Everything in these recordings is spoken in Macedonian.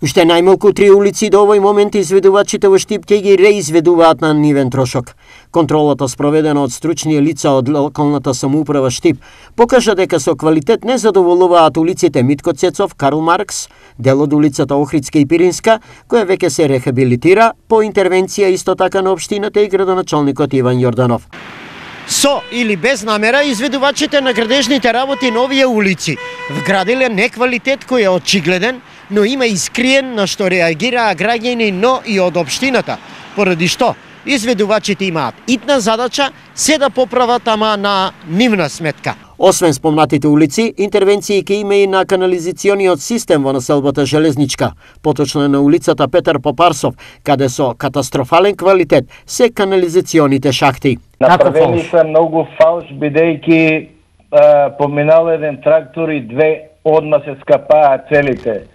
Уште најмалку 3 улици до овој момент изведувачите во Штип ќе ги реизведуваат на нивен трошок. Контролата спроведена од стручни лица од локалната самоуправа Штип покажа дека со квалитет не задоволуваат улиците Митко Цецов, Карл Маркс, дел од улицата Охридска и Пиринска, која веќе се рехабилитира по интервенција исто така на општината и градоначалникот Иван Јорданов. Со или без намера, изведувачите на градежните работи на овие улици вградиле неквалитет кој е очигледен, но има искриен на што реагираа граѓани, но и од општината, поради што изведувачите имаат итна задача се да поправат, ама на нивна сметка. Освен спомнатите улици, интервенции ќе има и на канализациониот систем во населбата Железничка, поточно на улицата Петар Попарсов, каде со катастрофален квалитет се канализационите шахти. Направени се многу фалш, бидејќи поминал еден трактор и две одма се скапаа целите.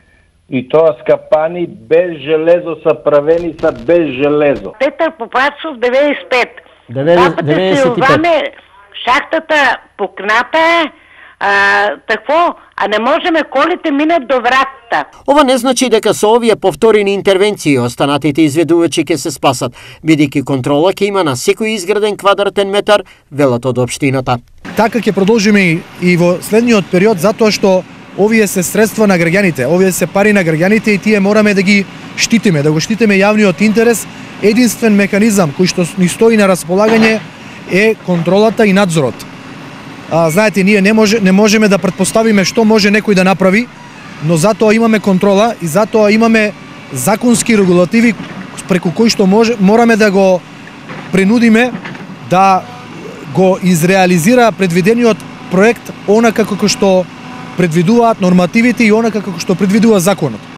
И тоа скапани без железо, са правени са без железо. Петар Попарсов 95. 95. Шахтата пукната е, такво, а не можеме колите минат до вратата. Ова не значи дека со овие повторени интервенции останатите изведувачи ќе се спасат, бидејќи контрола ќе има на секој изграден квадратен метар, велат од општината. Така ќе продолжиме и во следниот период, затоа што овие се средства на граѓаните, овие се пари на граѓаните и тие мораме да ги штитиме, да го штитиме јавниот интерес. Единствен механизам кој што ни стои на располагање е контролата и надзорот. Знаете, ние не можеме да претпоставиме што може некој да направи, но затоа имаме контрола и затоа имаме законски регулативи преку кои што мораме да го принудиме да го изреализира предвидениот проект онака како што предвидуваат нормативите и онака како што предвидува законот.